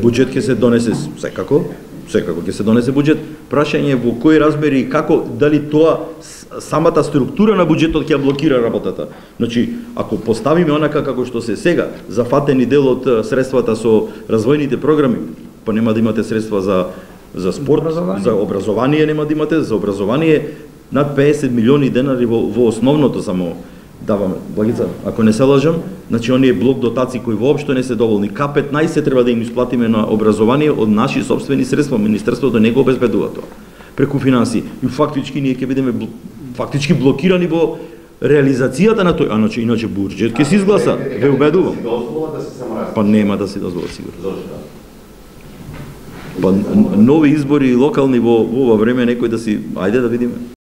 Буџет ќе се донесе секако ќе се донесе буџет. Прашање во кои размери и како, дали тоа самата структура на буџетот ќе блокира работата. Значи, ако поставиме онака како што се сега, зафатени дел од средствата со развојните програми, па нема да имате средства за спорт, за образование нема да имате, за образование над 50 милиони денари во основното само даваме. Благица, ако не се лажам, значи оние блок дотации кои воопшто не се доволни, К15 треба да им исплатиме на образование од наши собствени средства, Министерството не го обезбедува тоа. Преку финансии. И фактички ние ќе бидеме фактички блокирани во реализацијата на тој, иначе буџет ќе се изгласа, ве убедувам. Па нема да се дозвола сигурно. Па нови избори локални во ова време некој да си, ајде да видиме.